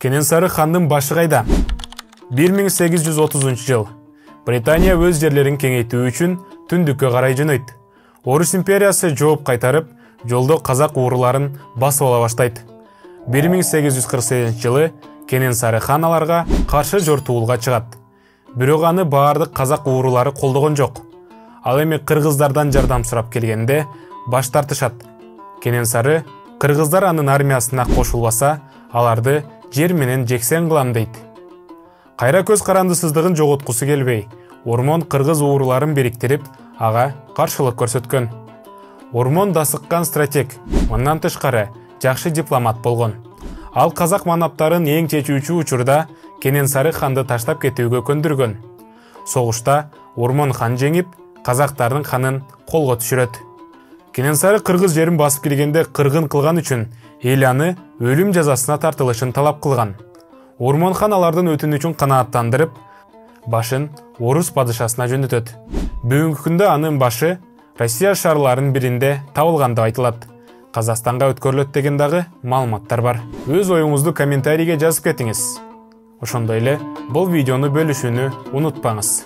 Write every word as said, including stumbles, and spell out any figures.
Кененсары хандын башы кайда? бир миң сегиз жүз отузунчу жыл. Британия өз жерлерин кеңейтүү үчүн түндүккө карай жөнөйт. Орус империясы жооп кайтарып, жолдо казак ууруларын басып ала баштайт. бир миң сегиз жүз кырк сегизинчи жылы Кененсары хан аларга каршы жортуулга чыгат. Бирок аны баардык казак уурулары колдогон жок. Ал эми кыргыздардан жардам сурап келгенде баш тартышат. Кененсары кыргыздар анын армиясына кошулбаса, аларды жер менен жексен кылам дейт. Кайра көз карандысыздыгын жоготкусу келбей, Ормон кыргыз ууруларын бириктирип, ага каршылык көрсөткөн. Ормон да сыккан стратег, мындан тышкары жакшы дипломат болгон. Ал казак манаптарын эң чечүүчү учурда Кененсары ханды таштап кетүүгө көндүргөн. Согушта Ормон хан жеңип, казактардын ханын колго түшүрөт. Кененсары кыргыз жерин басып келгенде кыргын кылган үчүн эл аны өлүм жазасына тартылышын талап кылган. Ормон хан алардын өтүнүчүн канааттандырып, башын орус падышасына жөнөтөт. Бүгүнкү күндө анын башы Россия шаарларынын биринде табылган деп айтылат. Казакстанга өткөрүлөт деген дагы маалыматтар бар. Өз оюңузду комментарийге жазып кетиңиз. Ошондой эле бул видеону бөлүшүүнү унутпаңыз.